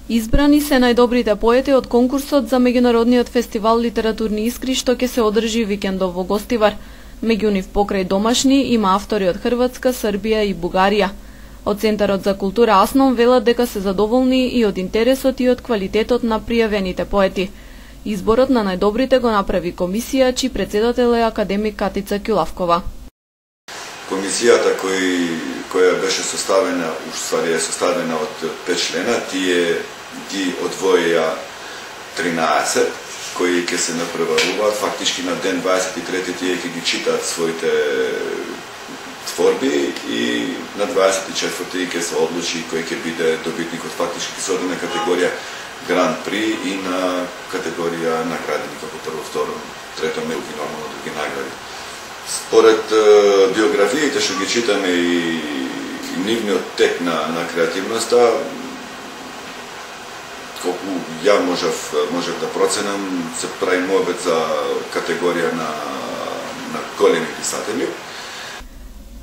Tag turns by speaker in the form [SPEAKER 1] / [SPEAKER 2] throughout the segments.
[SPEAKER 1] Избрани се најдобрите поети од конкурсот за меѓународниот фестивал Литературни искри што ќе се одржи викендов во Гостивар. Меѓу нив покрај домашни има автори од Хрватска, Србија и Бугарија. Од Центарот за култура Аснон велат дека се задоволни и од интересот и од квалитетот на пријавените поети. Изборот на најдобрите го направи комисија, чиј председател е академик Катица Ќулавкова.
[SPEAKER 2] Комисијата која беше составена, уствари е составена од 5 члена, тие ги одвоија 13 кои ќе се напреваруваат. Фактички на ден 23 тие ќе ги читаат своите творби и на 24 ќе се одлучи кој ќе биде добитникот. Фактички ќе се оди на категорија Гран При и на категорија наградени како прво, второ, трето меѓу нормално други награди. Според биографиите што ги читаме и нивниот тек на креативноста, колку ја можев да проценам, се прави мојбет за категорија на големи писатели.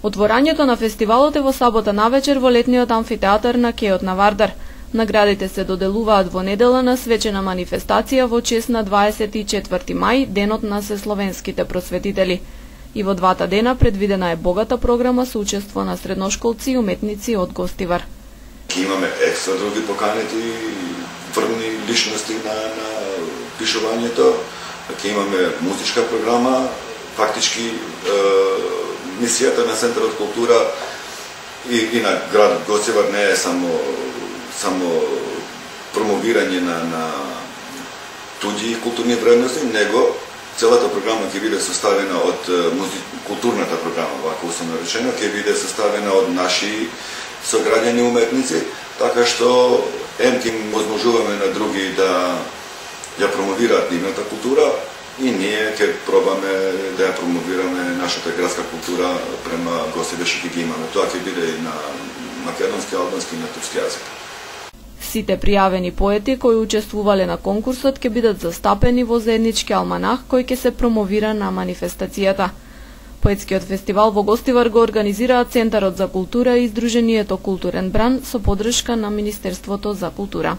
[SPEAKER 1] Отворањето на фестивалот е во сабота навечер во летниот амфитеатар на Кеот на Вардар. Наградите се доделуваат во недела на свечена манифестација во чест на 24 мај, денот на сесловенските просветители. И во двата дена предвидена е богата програма со учество на средношколци и уметници од Гостивар.
[SPEAKER 2] Имаме екстра други поканети врвни личности на пишувањето. Имаме музичка програма. Фактички мисијата на Центарот култура и на градот Гостивар не е само промовирање на туѓи културни вредности, него целата програма ќе биде составена од културната програма, вака условно речено, ќе биде составена од наши сограѓани уметници, така што ќе возможуваме на други да ја промовираат нивната култура и ние ќе пробаме да ја промовираме нашата градска култура према гостите што ги имаме. Тоа ќе биде и на македонски, албански и на турски јазик.
[SPEAKER 1] Сите пријавени поети кои учествувале на конкурсот ќе бидат застапени во заеднички алманах кој ќе се промовира на манифестацијата. Поетскиот фестивал во Гостивар го организираат Центарот за култура и Сдруженијето Културен бран со поддршка на Министерството за култура.